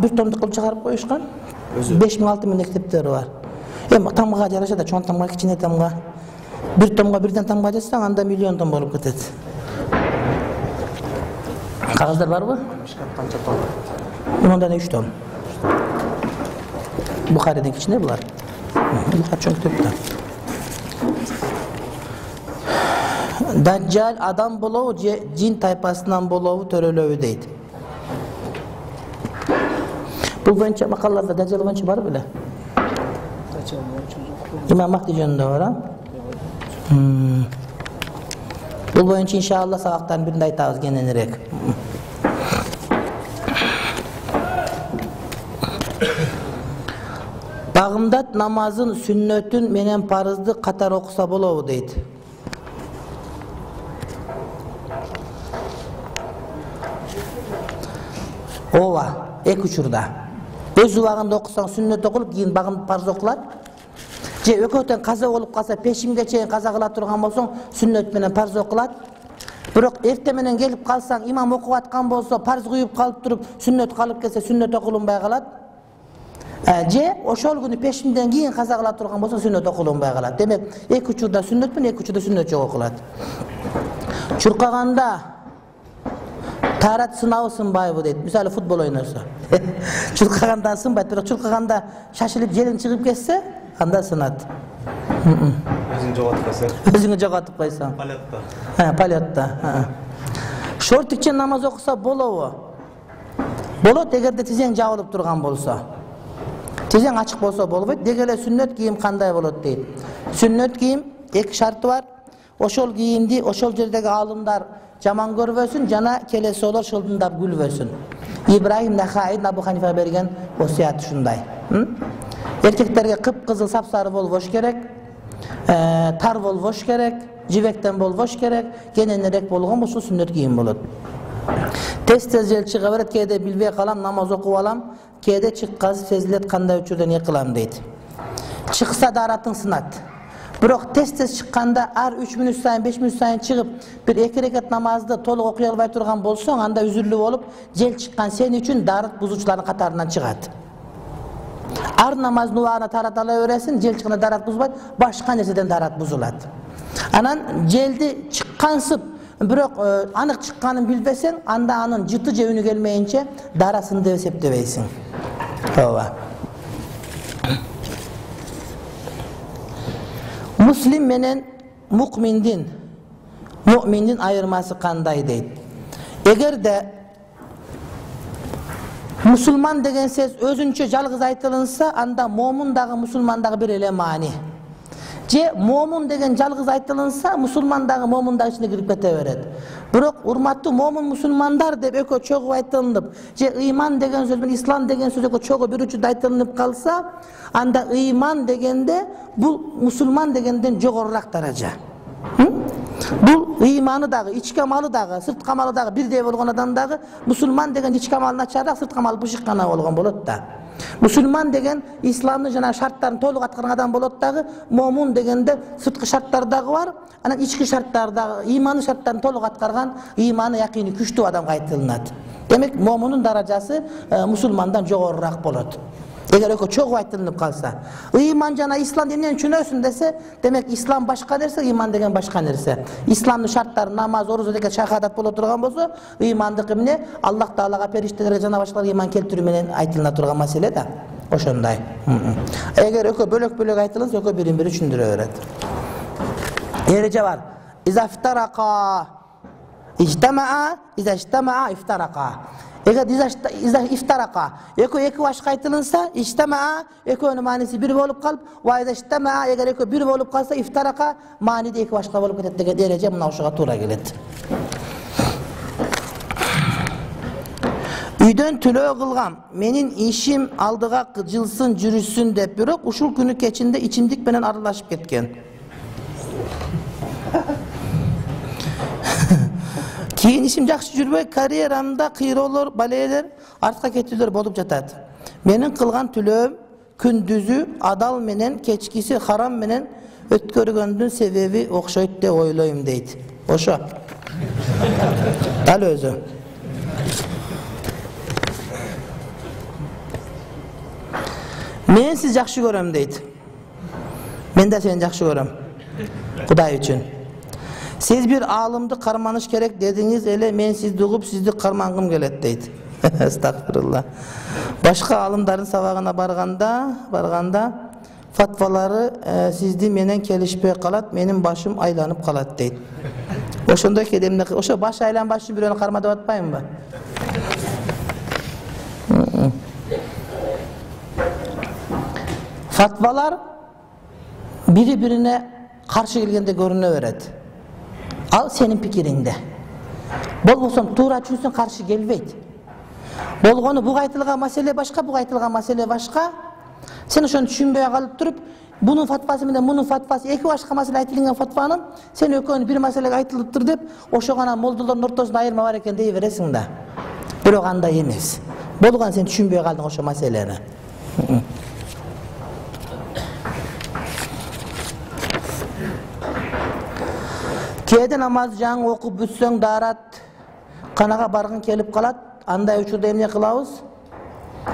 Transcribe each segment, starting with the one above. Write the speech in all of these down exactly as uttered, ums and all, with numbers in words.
бир томдук кылып чыгарып коюшкан. беш миң алты миң китептери бар. Эми тамга жараша да, чоң тамга, кичине тамга. Бир томго бирден тамга жазсаң, анда миллион том болуп кетет. Кагаздар барбы? Канча том? Мындан үч том. Бухариден кичине булар. Бухар чоң китеп да. Даджжал адам болобу же жин тайпасынан болобу төрөлөбү дейт. Бул боюнча макалаларда Даджжал боюнча бар беле? Даджжал боюнча жок. Имам Махди жөнүндө бар, а? Бул боюнча иншалла сабактардын биринде айтабыз кененирээк. Багымдат намазын сүннөтүн менен парызды катар окуса болобу дейт. Ооба, эки учурда. Өз убагында окусаң сүннөт окулуп, кийин багым парыз окулат. Же экөөтөн каза болуп калса, пешимге чейин каза кыла турган болсоң, сүннөт менен парыз окулат. Бирок эрте менен келип калсаң, имам окуп аткан болсо, парыз куюп калып туруп, сүннөт калып келсе, сүннөт окулунбай калат. Же ошол күнү пешимден кийин каза кыла турган болсо, сүннөт окулунбай калат. Демек, эки учурда сүннөт менен, эки учурда сүннөт жок окулат. Чуркаганда таарат сынабы сынбайбы дейт. Мисалы футбол ойносо. Чуркаганда сынбайт, бирок чуркаганда шашылып желиң чыгып кетсе, анда сынат. Өзүң жоготуп койсоң. Өзүңү жоготуп койсоң. Полетта. Ha, полетта. Шортикче намаз окуса болобу? Болот, эгерде тизең жабылып турган болсо. Тизең ачык болсо болбойт. Деги эле сүннөт кийим кандай болот дейт. Сүннөт кийим эки шарты бар. Ошол кийимди ошол жердеги аалымдар жаман көрбөсүн, жана келеси олор шылдындап күлбөсүн. Ибрахим Нахаи Абу Ханифа берген осуят ушундай. Эркектерге кып-кызыл сапсары болбош керек, тар болбош керек, жибектен болбош керек, кененирээк болгон болсо сүннөт кийим болот. Тез-тез жел чыга берет, кээде билбей калам, намаз окуп алам, кээде чыккасы сезилет, кандай учурда эмне кылам дейт. Чыкса даратың сынат. Бирок тез-тез чыкканда ар үч мүнөт сайын, беш мүнөт сайын чыгып, бир эки рекат намазды толук окуй албай турган болсоң, анда үзүрлүү болуп, жел чыккан сен үчүн дарат бузуучулардын катарынан чыгат. Ар намаздын убагына тарат ала бересиң, жел чыкканда дарат бузбайт, башка нерседен дарат бузулат. Анан желди чыккансып, бирок анык чыкканын билбесең, анда анын жыты же үнү келмейинче дарасын деп эсептебейсиң. Ооба. Муслим менен мукминдин, муъминдин айырмасы кандай дейт. Эгерде мусулман деген сөз өзүнчө жалгыз айтылынса, анда момун дагы мусулман дагы бир эле маани. Же момун деген жалгыз айтылынса, мусулман дагы момун дагы ичине кирип кете берет. Бирок урматтуу момун мусулмандар деп экөө чогуу айтылып, же ыйман деген сөз менен ислам деген сөз экөө чогуу бир учурда айтылып калса, анда ыйман дегенде бул мусулман дегенден жогорураак даража. Бул ыйманы дагы, ички амалы дагы, сырткы амалы дагы бирдей болгон адам дагы мусулман деген ички амалы начарыраак, сырткы амалы бышык гана болгон болот да. Мусулман деген исламдын жана шарттарын толук аткарган адам болот дагы, момун дегенде сырткы шарттар дагы бар, анан ички шарттар дагы, ыйманы шарттарын толук аткарган, ыйманы якыны күчтүү адамга айтылат. Демек, момунун даражасы мусулмандан жогорураак болот. Эгер экөө чогуу айтылып калса, ыйман жана ислам эмнени түшүнөсүн десе, демек ислам башка нерсе, ыйман деген башка нерсе. Исламдын шарттары намаз, орозо деген шахадат боло турган болсо, ыймандыкы эмне? Аллах Таалага, периштелерге жана башкаларга ыйман келтирүү менен айтылына турган маселе да. Ошондой. Эгер экөө бөлөк-бөлөк айтылса, экөө бирин-бири түшүндүрө берет. Эреже бар. Изафтарака ижтамаа, изаштамаа ифтарака. Эгер ифтарака, экөө эки башка айтылынса, ижтамаа, экөөнүн мааниси бир болуп калып, ва изаштамаа, эгер экөө бир болуп калса, ифтарака, мааниде эки башка болуп кетет деген эреже мына ошого туура келет. Үйдөн төлөө кылгам, менин ишим алдыга жылсын, жүрүшсүн деп, бирок ушул күнү кечинде ичимдик менен аралашып кеткен. Кийин ишим жакшы жүрбөй, карьерамда кыйроолор, балээлер, артка кетүүлөр болуп жатат. Менин кылган төлөөм күндүзү адал менен, кечкиси харам менен өткөргөндүн себеби окшойт деп ойлойм дейт. Ошо. Дал өзү. Мен сизди жакшы көрөм дейт. Мен да сени жакшы көрөм. Кудай үчүн. Сиз бир аалымды карманыш керек дедиңиз эле, мен сизди угуп, сизди кармангым келет дейт. Астагфирулла. Башка аалымдардын сабагына барганда, барганда фатвалары э, сизди менен келишпей калат, менин башым айланып калат дейт. Ошондой кедемде, ошо баш айланбаш үчүн бирөөнү карма деп атпаймынбы? Фатвалар бири-бирине каршы келгенде көрүнө берет. Ал сенин пикириңде. Болбосо туура чүнсүң каршы келбейт. Болгону буга айтылган маселе башка, буга айтылган маселе башка. Сен ошону түшүнбөй калып туруп, бунун фатвасы менен мунун фатвасы эки башка маселе айтылган фатванын сен экөөнү бир маселеге айтылыптыр деп, ошо гана молдолордун ортосунда айырма бар экен дей бересиң да. Бирок андай эмес. Болгон сен түшүнбөй калдың ошо маселени. Кээде намаз жаңы окуп бүтсөң даарат канага баргың келип калат. Андай учурда эмне кылабыз?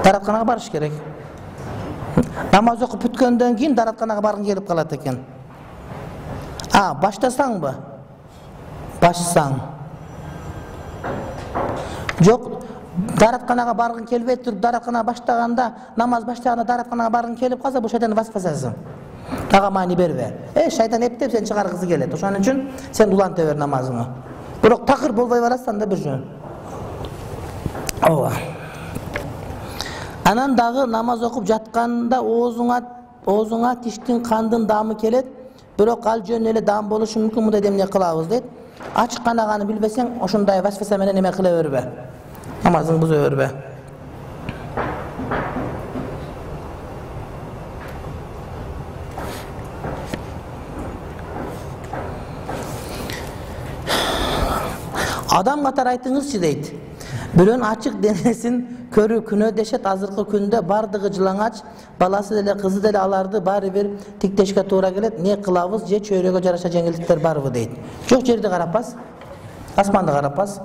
Дааратканага барыш керек. Намаз окуп бүткөндөн кийин дааратканага баргың келип калат экен. А, баштасаңбы? Башсаң. Жок, дааратканага баргың келбей туруп, дааратканага баштаганда, намаз баштаганда дааратканага баргың келип калса, бул шайтандын васпасасы. Ага маани бербе. Э, шайтан эптеп сени чыгаргысы келет. Ошон үчүн сен уланта бер намазыңы. Бирок такыр болбой барасың да бир жөн. Ооба. Анан дагы намаз окуп жатканда оозуңа, оозуңа тиштин кандын даамы келет. Бирок ал жөн эле даам болушу мүмкүн, мындай эмне кылабыз дейт. Ачык канаганы билбесең, ошондой васпаса менен эме кыла бербе. Намазыңды буза бербе. Адам катары айтыңызчы дейт. Бирөөнүн ачык денесин көрүү күнөө дешет. Азыркы күндө бардыгы жылаңач, баласы деле, кызы деле аларды баары бир тиктешке туура келет. Не кылабыз? Же чөйрөгө жараша жеңилдиктер барбы дейт. Жок, жерди карап бас. Асманды карап бас.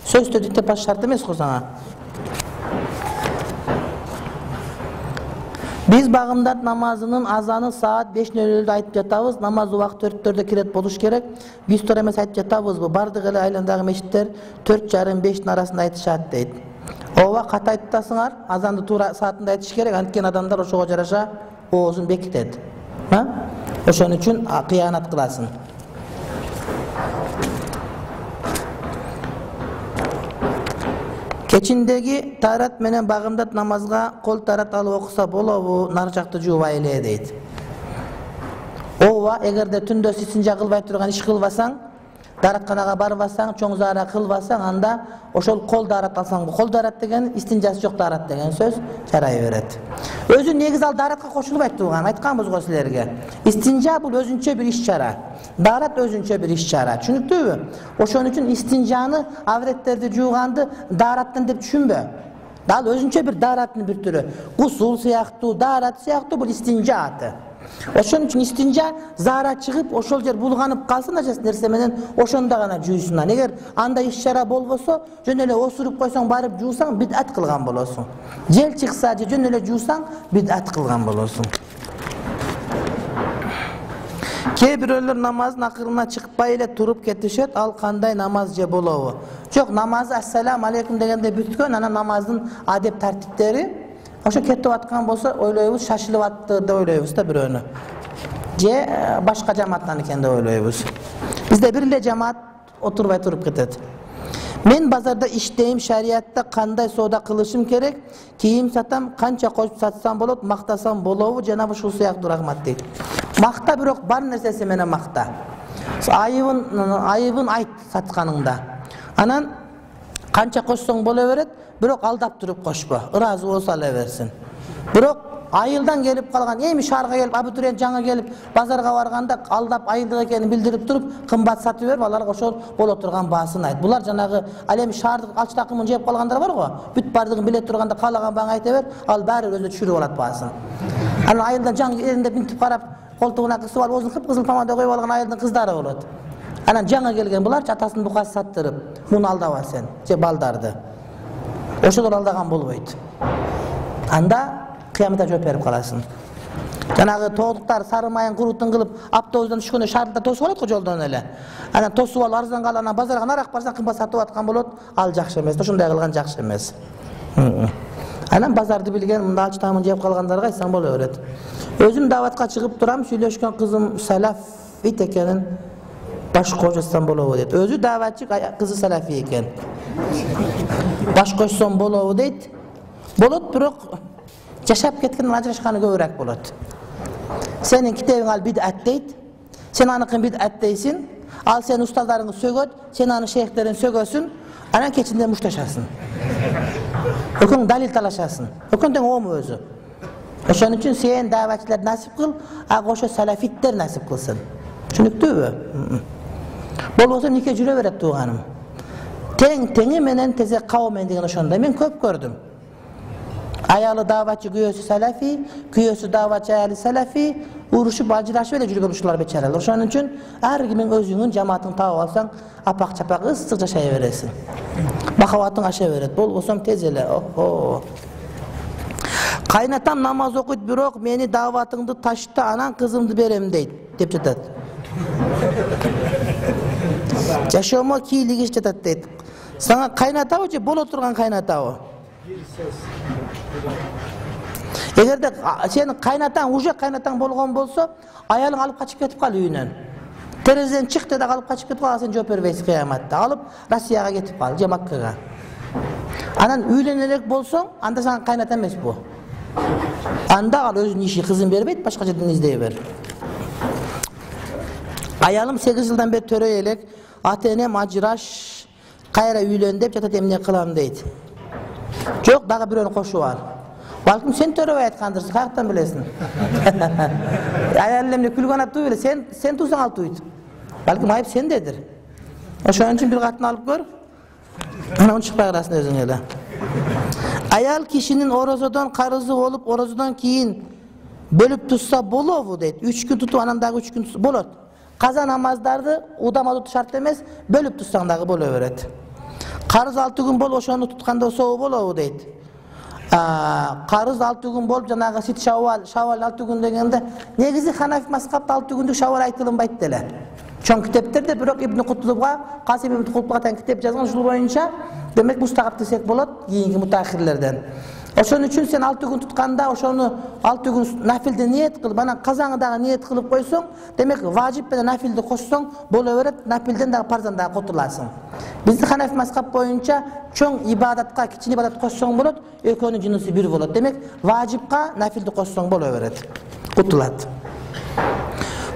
Сөздү диктеп бас шарт эмес го сага. Биз багымдат намазынын азаны саат беш нөл нөлдө айтып жатабыз. Намаз убакыт төрттөрдө кирет болуш керек. Биз туура эмес айтып жатабызбы? Бардык эле айландагы мечиттер төрт жарым бештин арасында айтышат дейт. Ооба, ката айтып атасыңар. Азанды туура саатында айтыш керек. Анткени адамдар ошого жараша оозун бекитет. Ha? Ошон үчүн кыянат кыласың. Кечиндеги тарат менен багымдат намазга кол тарат алып окуса болобу? Нар жакты жуубай эле дейт. Ооба, эгерде түндө истинжа кылбай турган иш кылбасаң, дааратканага барбасаң, чоң заара кылбасаң, анда ошол кол даарат алсаң, кол даарат деген истинжасы жок даарат деген сөз жарай берет. Өзү негизи ал дааратка кошулбайт турган, айтканбыз го силерге. Истинжа бул өзүнчө бир иш-чара. Даарат өзүнчө бир иш-чара. Түшүнүктүүбү? Ошон үчүн истинжаны, авреттерди жууганды даараттан деп түшүнбө. Дал өзүнчө бир даараттын бир түрү. Гусул сыяктуу, даарат сыяктуу бул истинжа аты. Ошон үчүн истинжа заара чыгып, ошол жер булганып калсын ажас нерсе менен, ошондо гана жуйсуң. Эгер андай иш-чара болбосо, жөн эле осуруп койсоң, барып жуусаң, бидат кылган болосуң. Жел чыкса же жөн эле жуусаң, бидат кылган болосуң. Кээ бирөөлөр намаздын акырына чыкпай эле туруп кетишет. Ал кандай намаз же болобу? Жок, намазы ассалам алейкум дегенде бүткөн, анан намаздын адеп тартиптери ошо кетип аткан болсо, ойлойбуз, шашылып атты деп ойлойбуз да бирөөнү. Же башка жамааттан экен деп ойлойбуз. Бизде бир эле жамаат отурбай туруп кетет. Мен базарда иштейм, шариятта кандай соода кылышым керек? Кийим сатам, канча кошуп сатсам болот, мактасам болобу? Жана ушул сыяктуу рахмат дейт. Макта бирок бар нерсеси менен макта. Айыбын, айыбын айт сатканыңда. Анан канча кошсоң боло берет, бирок алдап туруп кошпо. Ыраазы болсо ала берсин. Бирок айылдан келип калган, эми шаарга келип, абитуриент жаңы келип, базарга барганда алдап айылдык экенин билдирип туруп, кымбат сатып берип, аларга ошол боло турган баасын айт. Булар жанагы ал эми шаардык алчы такымын жеп калгандар бар го. Бүт бардыгын биле турганда каалаган бааңа айта бер, ал баары өзү түшүрүп алат баасын. Анан айылдан жаңы элинде минтип карап, колтугуна кысып алып, оозун кып-кызыл помада коюп алган айылдын кыздары болот. Анан жаңы келген буларчы атасынын букасы саттырып, муну алдаба сен, же балдарды. Ошолор алдаган болбойт. Анда кыяматта жооп берип каласың. Жанагы тоодуктар сары майын курутун кылып автобустан түшкөндө шартта тосуп алат го жолдон эле. Анан тосуп алып арзан калып анан базарга нарак барсаң кымбат сатып аткан болот. Ал жакшы эмес. Ошондой кылган жакшы эмес. Анан базарды билген мында ач тамын жеп калгандарга айтсаң боло берет. Өзүм даватка чыгып турам, сүйлөшкөн кызым салафит экенин баш кошсам болобу дейт. Өзү даватчы, кызы салафи экен. Баш кошсом болобу дейт. Болот, бирок жашап кеткенден ажырашканы көбүрөөк болот. Сенин китебиң ал бидат дейт. Сен аныкын бидат дейсиң. Ал сен устаздарыңды сөгөт, сен аны шейхтерин сөгөсүн, анан кечинде мушташасың. Өкөң далил талашасың. Өкөң тең ому өзү. Ошон үчүн сен даватчылар насип кыл, ага ошо салафиттер насип кылсын. Түшүнүктүүбү? Болбосо нике жүрө берет тууганым. Тең теңи менен тезек кабымен деген ошондой мен көп көрдүм. Аялы даватчы, күйөөсү салафи, күйөөсү даватчы, аялы салафи, урушуп ажырашып эле жүргөн ушулар бечаралар. Ошон үчүн ар кимиң өзүңүн жамаатыңды таап алсаң, апак-чапак ысык жашай бересиң. Махабатың аша берет. Болбосом тез эле. Охо. Кайнатам намаз окуйт, бирок мени даватыңды ташта, анан кызымды берем дейт, деп жатат. Жашоомо кийлигиш жатат дейт. Сага кайнатабы же боло турган кайнатабы? Эгерде сенин кайнатаң уже кайнатаң болгон болсо, аялың алып качып кетип кал үйүнөн. Терезеден чык деди, алып качып кетип кал, сен жооп бербейсиң кыяматта. Алып Россияга кетип кал, же Маккага. Анан үйлөнө элек болсоң, анда сага кайната эмес бу. Анда ал өзүнүн иши, кызын бербейт, башка жерден издей бер. Аялым сегиз жылдан бери төрөй элек, ата-энем ажыраш, кайра үйлөн деп жатат, эмне кылам дейт. Жок, дагы бирөөнү кошуп ал. Балким сен төрөбөй айткандырсың, каяктан билесиң? Аялым эмне күлгөн ат туй, сен сен туйсаң ал туйт. Балким айып сендедир. Ошон үчүн бир катын алып көр. Анан чыкпай каласың өзүң эле. Аял кишинин орозодон карызы болуп, орозодон кийин бөлүп тутса болобу дейт. үч күн тутуп, анан дагы үч күн тутса болот. Каза намаздарды удама тутуш шарт эмес, бөлүп тутсаң дагы боло берет. Карыз алты күн болуп, ошону тутканда собу болобу дейт. Карыз алты күн болуп, жанагы сит шавал, шавал алты күн дегенде, негизи Ханафи мазхабта алты күндүк шавал айтылынбайт деле. Чоң китептерде бирок Ибн Кутубга, Касим ибн Кутубга тең китеп жазган, ушул боюнча демек мустагап десек болот, кийинки мутаахирлерден. Ошон үчүн сен алты күн тутканда, ошону алты күн нафилде ниет кылып, анан казаңы дагы ниет кылып койсоң, демек важип менен нафилди кошсоң боло берет, нафилден дагы парздан дагы кутуласың. Бизди Ханафи мазхаб боюнча чоң ибадатка кичин ибадат кошсоң болот, экөөнүн жынысы бир болот. Демек важипка нафилди кошсоң боло берет. Кутулат.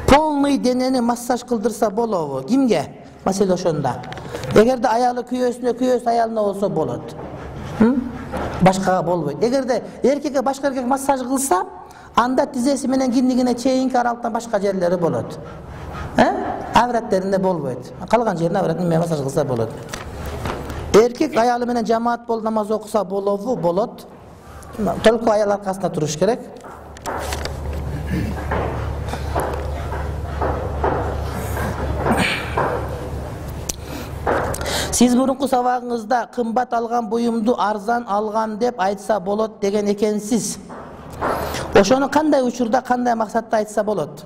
Полный денени массаж кылдырса болобу? Кимге? Маселе ошондо. Эгерде аялы күйөөсүнө, күйөөсү аялына болсо болот. Башкага болбойт. Эгерде эркекке башка эркек массаж кылса, анда тизеси менен киндигине чейинки аралыктан башка жерлери болот. Э? Авраттеринде болбойт. Калган жерине авратын менен массаж кылса болот. Эркек аялы менен жамаат болуп намаз окуса болобу? Болот. Толку аял аркасында туруш керек. Сиз мурунку сабагыңызда кымбат алган буюмду арзан алган деп айтса болот деген экенсиз. Ошону кандай учурда, кандай максатта айтса болот?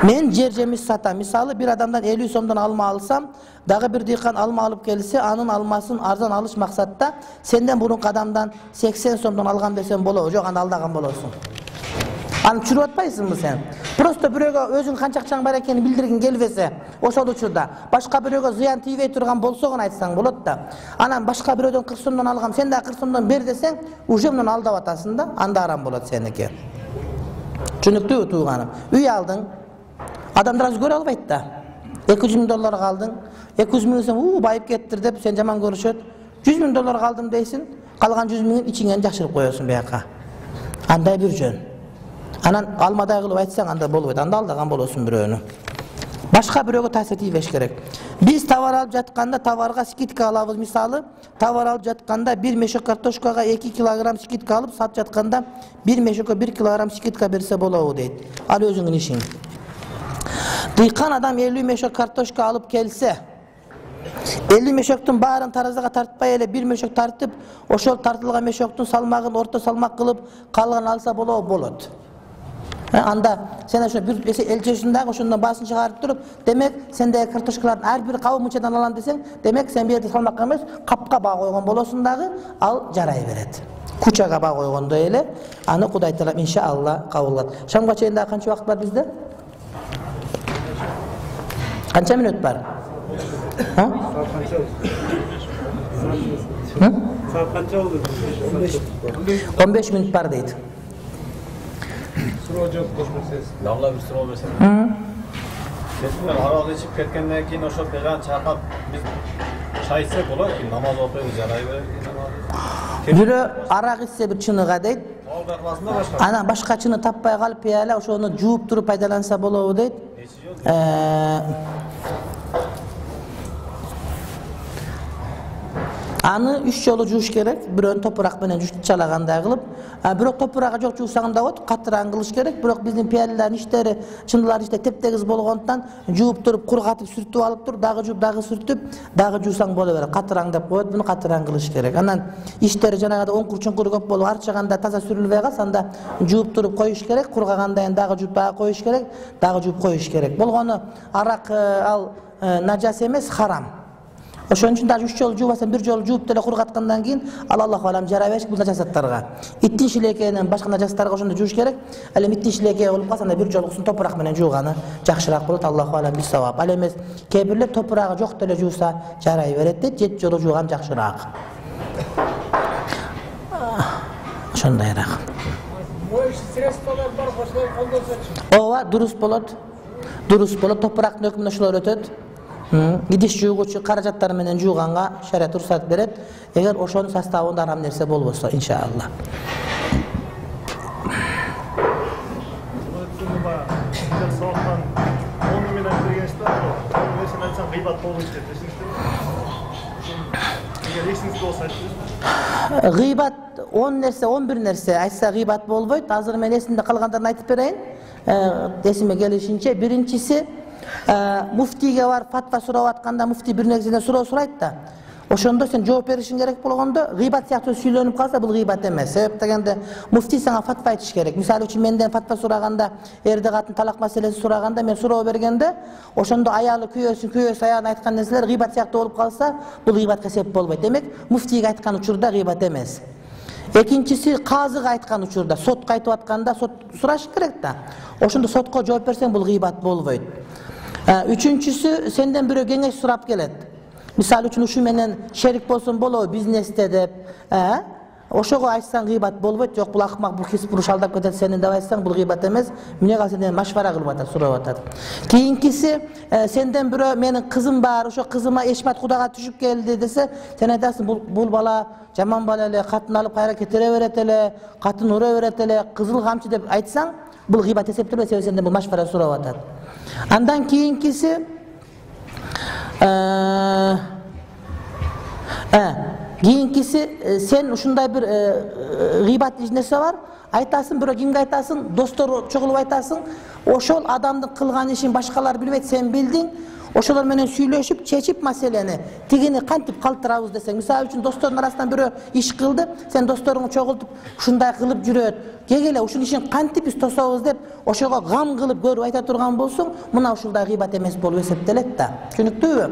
Мен жер жемиш сатам. Мисалы бир адамдан элүү сомдон алма алсам, дагы бир дыйкан алма алып келсе, анын алмасын арзан алыш максатта сенден мурунку адамдан сексен сомдон алган десем болобу? Жок, аны алдаган болосуң. Аны чүрүп атпайсыңбы сен? Просто бирөөгө өзүң канча акчаң бар экенин билдиргиң келбесе, ошол учурда башка бирөөгө зыян тийбей турган болсо гана айтсаң болот да. Анан башка бирөөдөн кырк сомдон алгам, сен да кырк сомдон бер десең, уже мунун алдап атасың да, анда арам болот сеники. Түшүнүктүүбү тууганым? Үй алдың, адамдар аз көрө албайт да. эки жүз миң долларга алдың, эки жүз миң десең, уу байып кеттир деп сен жаман көрүшөт. жүз миң долларга алдым дейсиң, калган жүз миңин ичиңен жакшырып коесуң бияка. Андай бир жөн. Анан алмадай кылып айтсаң анда болбойт. Анда алдаган болосуң бирөөнү. Башка бирөөгө таасир тийбеш керек. Биз товар алып жатканда товарга скидка алабыз. Мисалы, товар алып жатканда бир мешок картошкага эки килограмм скидка алып, сатып жатканда бир мешокко бир килограмм скидка берсе болобу дейт. Ал өзүңүн ишиң. Дыйкан адам элүү мешок картошка алып келсе, элүү мешоктун баарын таразага тартпай эле бир мешок тартып, ошол тартылган мешоктун салмагын орто салмак кылып, калган алса болобу? Болот. Анда сен ошо бир элчесиң дагы ошондон баасын чыгарып туруп, демек сендеги картошкалардын ар бир кабы мынчадан алам десең, демек сен бу жерде салмакка эмес, капка баа койгон болосуң дагы, ал жарай берет. Кучага баа койгондой эле, аны Кудай таала иншалла кабыл кылат. Шамга чейин дагы канча убакыт бар бизде? Канча мүнөт бар? Ha? Saat kança oldu? on beş minut бар дейт. Суроо жооп көрсөңүз. Дагы бир суроо берсем. Сен арак ичип кеткенден кийин ошо беган чакап биз чай ичсек болот, намаз окуйбуз, жарай берет. Бирөө арак ичсе бир чыныга дейт. Алда кыласында башка. Анан башка чыны таппай калып пияла ошону жууп туруп пайдаланса болобу дейт. Аны үч жолу жууш керек. Бирөөнү топурак менен жуучалагандай кылып, бирок топурагы жок жуусаң да болот, катыраан кылыш керек. Бирок биздин пиялалардын иштери, чындылар иште тептегиз болгондуктан жууп туруп, кургатып, сүртүп алып туруп, дагы жууп, дагы сүртүп, дагы жуусаң боло берет. Катыраң деп коет, буну катыраан кылыш керек. Анан иштери жанагыда оңкур-чуңкуру көп болуп, арчаганда таза сүрүлбөй калса, анда жууп туруп коюш керек. Кургагандан кийин дагы жууп, дагы коюш керек, дагы жууп коюш керек. Болгону арак ал нажас эмес, харам. Ошон үчүн дагы үч жолу жуубасаң, бир жолу жууп деле кургаткандан кийин ал Аллаху алам жарай берет бул нажасаттарга. Иттин шилекейинен башка нажастарга ошондо жууш керек. Ал эми иттин шилекей болуп калса, анда бир жолуксун топурак менен жууганы жакшыраак болот. Аллаху алам бис савап. Ал эмес, кээ бирлер топурагы жок деле жууса жарай берет дейт, жети жолу жууган жакшыраак. Ошондойраак. Моющий средстволор бар, ошолор колдонсочу. Ооба, дурус болот. Дурус болот, топурактын өкмүнө ошолор өтөт. Идиш жуугучу каражаттар менен жууганга шарият уруксат берет, эгер ошонун составында арам нерсе болбосо, иншалла. Гыйбат он нерсе, он бир нерсе айтса гыйбат болбойт. Азыр мен эсимде калгандарын айтып берейин. Эсиме келишинче, биринчиси муфтийге бар фатва сурап атканда муфтий бир нерседен суроо сурайт да. Ошондо сен жооп беришиң керек болгондо, гыйбат сыяктуу сүйлөнүп калса, бул гыйбат эмес. Себеп дегенде муфтий сага фатва айтыш керек. Мисалы үчүн менден фатва сураганда, эрди катын талак маселеси сураганда, мен суроо бергенде, ошондо аялы күйөөсүн, күйөөсү аялына айткан нерселер гыйбат сыяктуу болуп калса, бул гыйбатка себеп болбойт. Демек, муфтийге айткан учурда гыйбат эмес. Экинчиси, казыга айткан учурда, сотко айтып атканда сот сураш керек да. Ошондо сотко жооп берсең, бул гыйбат болбойт. Үчүнчүсү, сенден бирөө кеңеш сурап келет. Мисалы үчүн ушу менен шерик болсун болобу бизнесте деп, ошого айтсаң гыйбат болбойт. Жок, бул акмак, бул кесип буруш алдап кетет сени деп айтсаң, бул гыйбат эмес. Эмне кал сенден машвара кылып атат, сурап атат. Кийинкиси, сенден бирөө менин кызым бар, ошо кызыма эшмат кудага түшүп келди десе, сен айтасың, бул бул бала жаман бала эле, катын алып кайра кетире берет эле, катын ура берет эле, кызыл камчы деп айтсаң, бул гыйбат эсептелбейт, себеби сенден бул машвара сурап атат. Андан кийинкиси кийинкиси сен ушундай бир гыйбат нерсе бар, айтасың, бирөө кимге айтасың, достор чогулуп айтасың, ошол адамдын кылган ишин башкалар билбейт, сен билдиң. Ошолор менен сүйлөшүп, чечип маселени, тигини кантип калтырабыз десең, мисалы үчүн достордун арасынан бирөө иш кылды, сен досторуңду чогултуп, ушундай кылып жүрөт, кегеле ушул ишин кантип биз тособуз деп, ошого гам кылып көрүп айта турган болсоң, мына ушулдай гыйбат эмес болуп эсептелет да. Түшүнүктүүбү?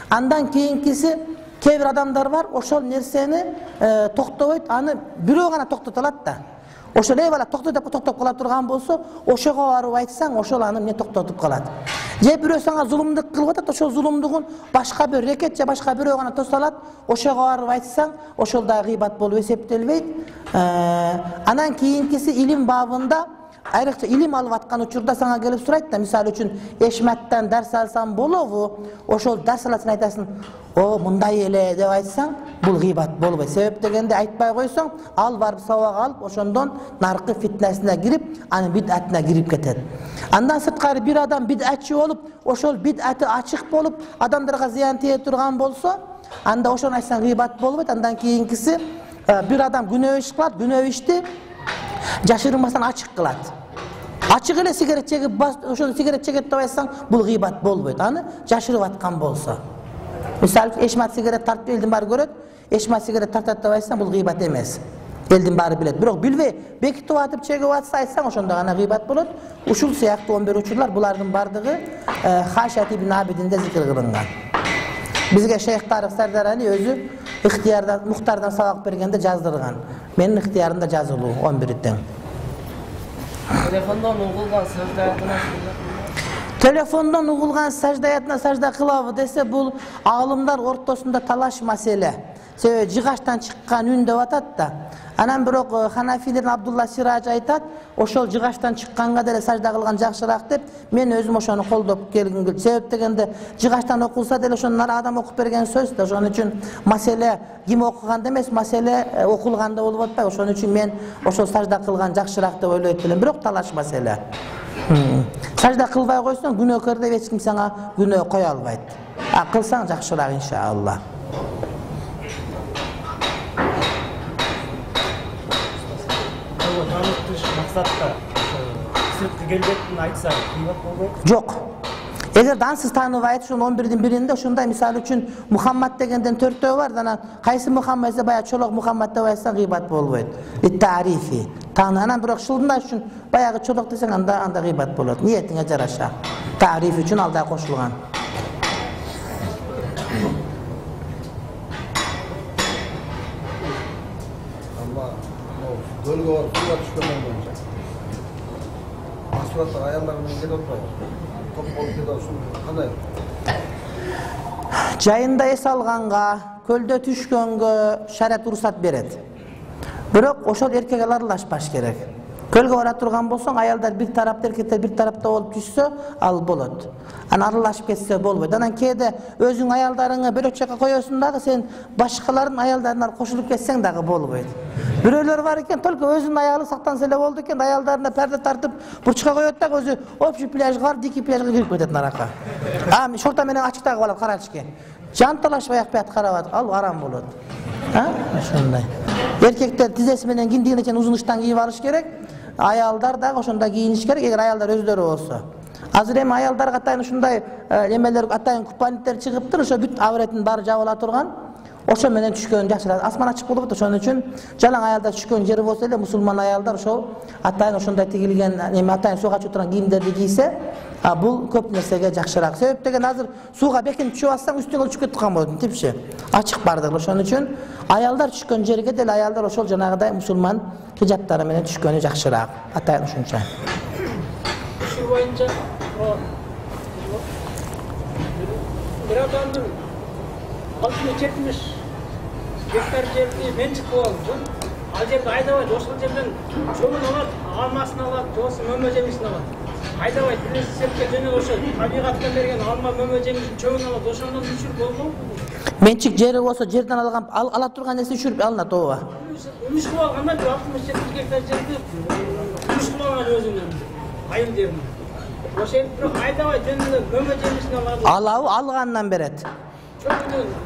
Андан кийинкиси, кээ бир адамдар бар, ошол нерсени токтобойт, аны бирөө гана токтото алат да. Ошол эй бала токто деп токтоп кала турган болсо, ошого барып айтсаң, ошол аны эмне токтотуп калат. Же бирөө сага зулумдук кылып атат, ошол зулумдугун башка бир рекет же башка бирөө гана тоса алат, ошого барып айтсаң, ошол да гыйбат болуп эсептелбейт. Анан кийинкиси илим бабында, айрыкча илим алып аткан учурда сага келип сурайт да, мисалы үчүн эшматтан дарс алсам болобу? Ошол дарс аласың, айтасың, о, мындай эле деп айтсаң, бул гыйбат болбойт. Себеп дегенде айтпай койсоң, ал барып сабак алып, ошондон наркы фитнесине кирип, анын бидатына кирип кетет. Андан сырткары бир адам бидатчы болуп, ошол бидаты ачык болуп, адамдарга зыян тие турган болсо, анда ошону айтсаң гыйбат болбойт. Андан кийинкиси, бир адам күнөө иш кылат, күнөө ишти жашырмастан ачык кылат. Ачык эле сигарет чегип, ошону сигарет чегет деп айтсаң, бул гыйбат болбойт. Аны жашырып аткан болсо. Мисалы, эшмат сигарет тартып элдин баары көрөт, эшмат сигарет тартат деп айтсаң, бул гыйбат эмес. Элдин баары билет. Бирок билбей бекитип атып чегип атса айтсаң ошондо гана гыйбат болот. Ушул сыяктуу он бир учурлар булардын бардыгы Хашат ибн Абидинде зикир кылынган. Бизге Шейх Тарык Сардарани өзү ыктыярдан, Мухтардан сабак бергенде жаздырган. Менин ыктыярымда жазылуу он бир тең. Телефондон угулган саждаятына Телефондон угулган саждаятына сажда кылабы десе, бул аалымдар ортосунда талаш маселе. Себеби жыгачтан чыккан үн деп атат да. Анан бирок Ханафилердин Абдулла Сирадж айтат, ошол жыгачтан чыкканга деле сажда кылган жакшыраак деп, мен өзүм ошону колдоп келгим келди. Себеп дегенде жыгачтан окулса деле ошону адам окуп берген сөз да. Ошон үчүн маселе ким окуганда эмес, маселе окулганда болуп атпайбы. Ошон үчүн мен ошол сажда кылган жакшыраак деп ойлойт элем. Бирок талаш маселе. Сажда кылбай койсоң күнөөкөр деп эч ким сага күнөө кое албайт. А кылсаң жакшыраак иншалла. максатта сырткы келбетин айтса кыйбат болбойт. Жок. Эгер дансыз тааныбай ошон он бирдин биринде ошондой мисалы үчүн Мухаммад дегенден төртөө бар, анан кайсы Мухаммад десе баягы чолок Мухаммад деп айтсаң гыйбат болбойт. Ит-тарифи. Таананан бирок шылдындай үчүн баягы чолок десең анда анда гыйбат болот. Ниетиңе жараша. Тариф үчүн алда кошулган. Gölge var, suya düşkenden boyunca. Asfaltta ayarlarının gel otmayır. Top olup gel olsun. Kanday. Жайында эс алганга, көлдө түшкөнгө шариат уруксат берет. Бирок ошол эркек аралашпаш керек. Көлгө бара турган болсоң, аялдар бир тарапта, эркектер бир тарапта болуп түшсө, ал болот. Анан аралашып кетсе болбойт. Анан кээде өзүң аялдарыңы бөлөк жакка коесуң дагы, сен башкалардын аялдарына кошулуп кетсең дагы болбойт. Бирөөлөр бар экен, только өзүнүн аялы сактанса эле болду экен, аялдарына перде тартып бурчка коет да, өзү общий пляжга барып, дикий пляжга кирип кетет наракка. А шорта менен ачыктагы калат карачке. Жанталашпай акпайт карап, ал арам болот. А? Ошондой. Эркектер тизеси менен киндигине чейин узун ыштан кийип алыш керек. Аялдар дагы ошондой кийиниш керек, эгер аялдар өздөрү болсо. Азыр эми аялдарга атайын ушундай эмелер, атайын купальниктер чыгыптыр, ошо бүт авретин баары жабыла турган. Ошо менен түшкөн жакшыраак. Асман ачык болуп атат, ошон үчүн жалаң аялдар түшкөн жери болсо эле мусулман аялдар ошол атайын ошондой тигилген, эми атайын сууга чыгып турган кийимдерди кийсе, а бул көп нерсеге жакшыраак. Себеп деген азыр сууга бекинип түшүп атсаң, үстүңө түшүп кетип калган болот, типчи. Ачык бардыгы. Ошон үчүн аялдар түшкөн жерге деле аялдар ошол жанагыдай мусулман хижаптары менен түшкөнү жакшыраак. Атайын ушунча. Ушул боюнча бир адамдын алтымыш жетимиш гектар жерди менчик кылып алып, ал жерди айдабайт, ошол жерден чөбүн алат, алмасын алат, жобосу мөмө жемишин алат. Айдабайт, бир сепке жөнөп ошол табигаттан берген алма мөмө жемишин чөбүн алат, ошондон үшүрүп болбойбу? Менчик жери болсо жерден алган ала турган нерсе үшүрүп алынат, ооба. Үмүш кылып алганда бир алтымыш жетимиш гектар жерди үмүш кылып алган өзүнүн айыл жерин. Ошол бирок айдабай жөнүндө мөмө жемишин алат. Алабы, алгандан берет.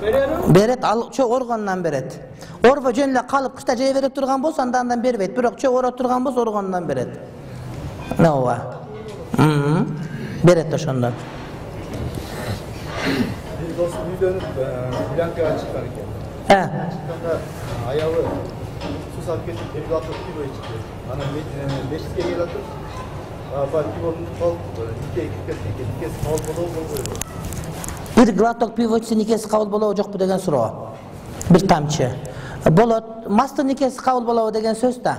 Берет. Берет, ал чөп оргонунан берет. Орбо жөн эле калып кышта жей бере турган болсо андан бербейт, бирок чөп ора турган болсо оргонунан берет. Ооба. Мм. Берет ошондон. Bir dostu үйдөнүп, Блянкага чыккан экен. Э. Чыкканда аялы суу сап кетип, бир глоток пиво ичти. Анан мешитке келип атып, апа пивонун калып, никеге кирип кетти экен. Никеси кабыл болобу болбойбу? Бир глоток пиво ичсе никеси кабыл болобу жокпу деген суроо. Бир тамчы. Болот. Масты никеси кабыл болобу деген сөз да.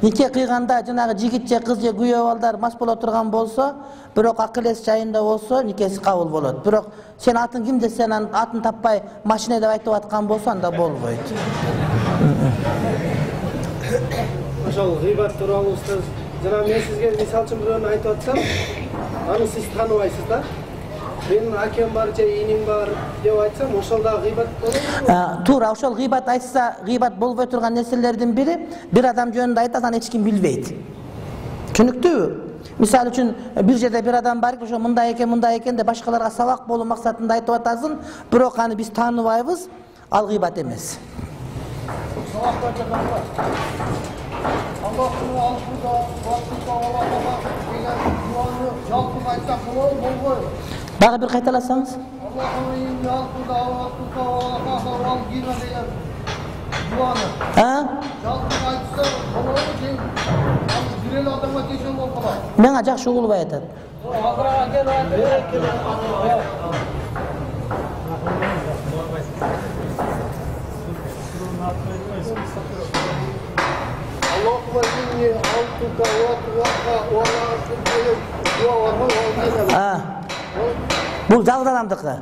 Нике кыйганда жанагы жигит же кыз же күйөө балдар мас боло турган болсо, бирок акыл эс жайында болсо никеси кабыл болот. Бирок сен атын ким десең, анын атын таппай машина деп айтып аткан болсо анда болбойт. Ошол гыйбат тууралуу устаз, жана мен сизге мисал үчүн бирөөнү айтып атсам, аны сиз тааныбайсыз да. Менин акем бар же иним бар деп айтсам, ошол да гыйбат болобу? Туура, ошол гыйбат айтса, гыйбат болбой турган нерселердин бири, бир адам жөнүндө айтат, аны эч ким билбейт. Түшүнүктүүбү? Мисалы үчүн бир жерде бир адам бар, ошо мындай экен, мындай экен деп башкаларга сабак болуу максатында айтып атасың, бирок аны биз тааныбайбыз, ал гыйбат эмес. Аллахтың алдында, Аллахтың Аллахқа деген дуаны жалпы айтсақ болобу, болбойбу? Дагы бир кайталасаңыз? Аллахтың алдында, Аллахтың Аллахқа ал гина деген Дуаны. Ha? Жалпы айтса, болот же бир эле адамга тиешелүү болуп калат. Мага жакшы угулбай атат. Акырага кел. Аллахума инни алтука ва туака ва ла дуа бар ма? Ha. Бул жалгыз адамдыкы.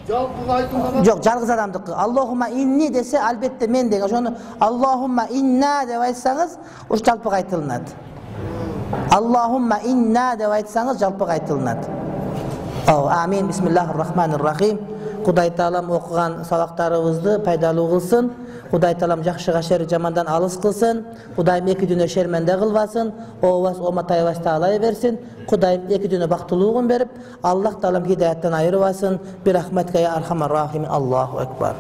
Жалпы айтылган Жок, жалгыз адамдыкы. Аллахума инни десе, албетте мен деген. Ошону Аллахума инна деп айтсаңыз, уш жалпы айтылынат. Аллахумма инна деп айтсаңыз жалпы айтылынат. О, амин. Бисмиллахир-рахманир-рахим. Кудай Таалам окуган сабактарыбызды пайдалуу кылсын. Кудай Таалам жакшыга шер жамандан алыс кылсын. Кудайым эки дүнө шерменде кылбасын. Ообас оматайбас таалай берсин. Кудайым эки дүнө бактылуулугун берип, Аллах Таалам хидаяттан айырбасын. Бирахматка я архамар рахимин. Аллаху акбар.